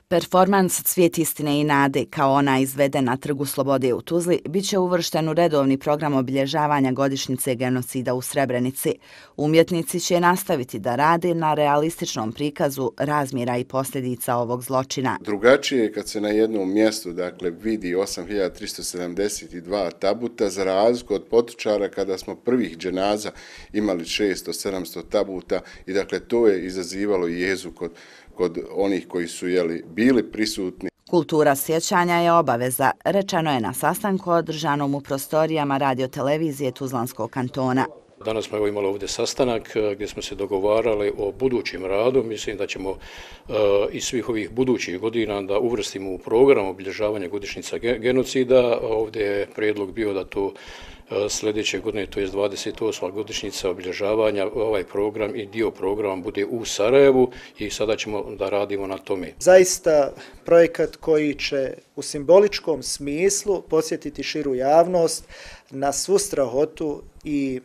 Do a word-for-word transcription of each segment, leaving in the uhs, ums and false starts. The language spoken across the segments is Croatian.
Performans Cvijet istine i nade, kao ona izveden na Trgu Slobode u Tuzli, bit će uvršten u redovni program obilježavanja godišnjice genocida u Srebrenici. Umjetnici će nastaviti da rade na realističnom prikazu razmjera i posljedica ovog zločina. Drugačije je kad se na jednom mjestu dakle, vidi osam hiljada tristo sedamdeset dva tabuta, za razliku od Potočara kada smo prvih dženaza imali šesto sedamsto tabuta i dakle to je izazivalo jezu kod kod onih koji su jeli, bili prisutni. Kultura sjećanja je obaveza, rečeno je na sastanku održanom u prostorijama radiotelevizije Tuzlanskog kantona. Danas smo evo imali ovdje sastanak gdje smo se dogovarali o budućim radu. Mislim da ćemo uh, iz svih ovih budućih godina da uvrstimo u program obilježavanja godišnjica genocida. Ovdje je prijedlog bio da to sljedeće godine, to je dvadeset osma godišnjica obilježavanja, ovaj program i dio programa bude u Sarajevu i sada ćemo da radimo na tome. Zaista projekat koji će u simboličkom smislu podsjetiti širu javnost na svu strahotu i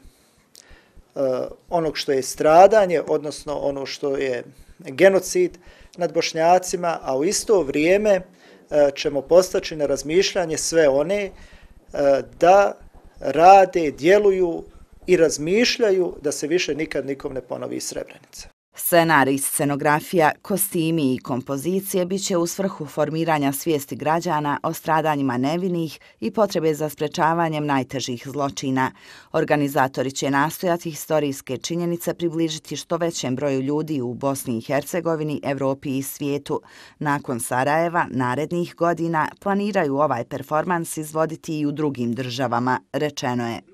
uh, onog što je stradanje, odnosno ono što je genocid nad Bošnjacima, a u isto vrijeme uh, ćemo postaći na razmišljanje sve one uh, da rade, djeluju i razmišljaju da se više nikad nikom ne ponovi Srebrenica. Scenarij, scenografija, kostimi i kompozicije bit će u svrhu formiranja svijesti građana o stradanjima nevinih i potrebe za sprečavanjem najtežih zločina. Organizatori će nastojati historijske činjenice približiti što većem broju ljudi u Bosni i Hercegovini, Evropi i svijetu. Nakon Sarajeva, narednih godina planiraju ovaj performans izvoditi i u drugim državama, rečeno je.